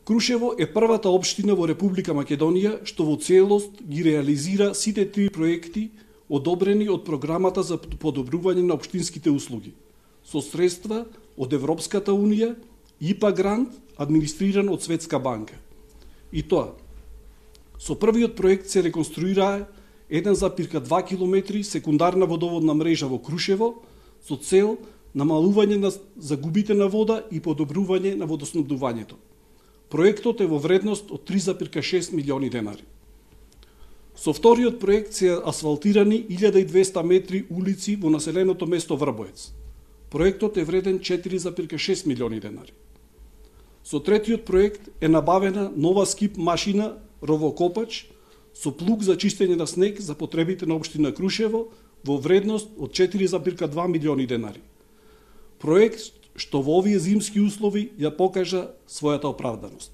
Крушево е првата општина во Република Македонија што во целост ги реализира сите три проекти одобрени од програмата за подобрување на општинските услуги со средства од Европската унија, ИПА грант, администриран од Светска банка. И тоа, со првиот проект се реконструира 1,2 километри секундарна водоводна мрежа во Крушево со цел намалување на загубите на вода и подобрување на водоснабдувањето. Проектот е во вредност од 3,6 милиони денари. Со вториот проект се асфалтирани 1200 метри улици во населеното место Врбоец. Проектот е вреден 4,6 милиони денари. Со третиот проект е набавена нова скип машина ровокопач со плуг за чистење на снег за потребите на општина Крушево во вредност од 4,2 милиони денари. Проект што во овие зимски услови ја покажа својата оправданост.